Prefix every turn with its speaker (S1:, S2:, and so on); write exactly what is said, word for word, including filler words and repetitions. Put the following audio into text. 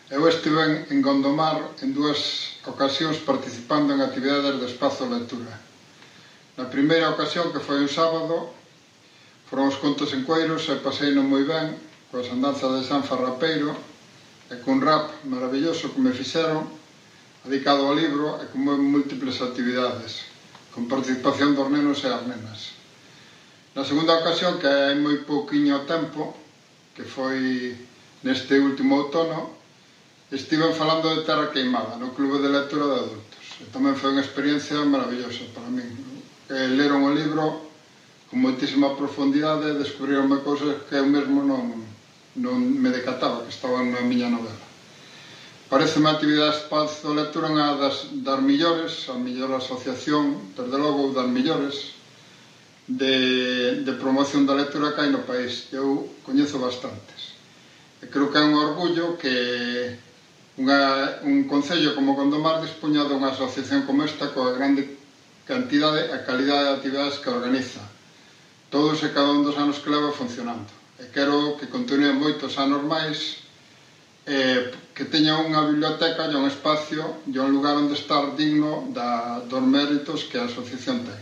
S1: Eu estive en Gondomar en dúas ocasións participando en actividades de espazo lectura. Na primeira ocasión, que foi un sábado, foron os contos en Cueiros e paseino moi ben, coas andanzas de San Farrapeiro e cun rap maravilloso que me fixeron, dedicado ao libro e con múltiples actividades, con participación dos nenos e as nenas. Na segunda ocasión, que hai moi pouquiño tempo, que foi neste último outono, estiven falando de Terra Queimada, no Clube de Lectura de Adultos. E tamén foi unha experiencia maravillosa para min. Leron o libro con moitísima profundidade e descubrironme cousas que eu mesmo non, non me decataba, que estaban na miña novela. Pareceme a actividade de espazo de lectura unha das, das millores, a mellor asociación, desde logo, das millores, de, de promoción da lectura que hai no país. Eu coñezo bastantes. E creo que é un orgullo que unha, un concello como Gondomar dispoña dunha asociación como esta coa grande cantidade e calidade de actividades que organiza todos e cada un dos anos que leva funcionando. E quero que continue moitos anos máis, eh, que teña unha biblioteca e un espacio e un lugar onde estar digno da, dos méritos que a asociación ten.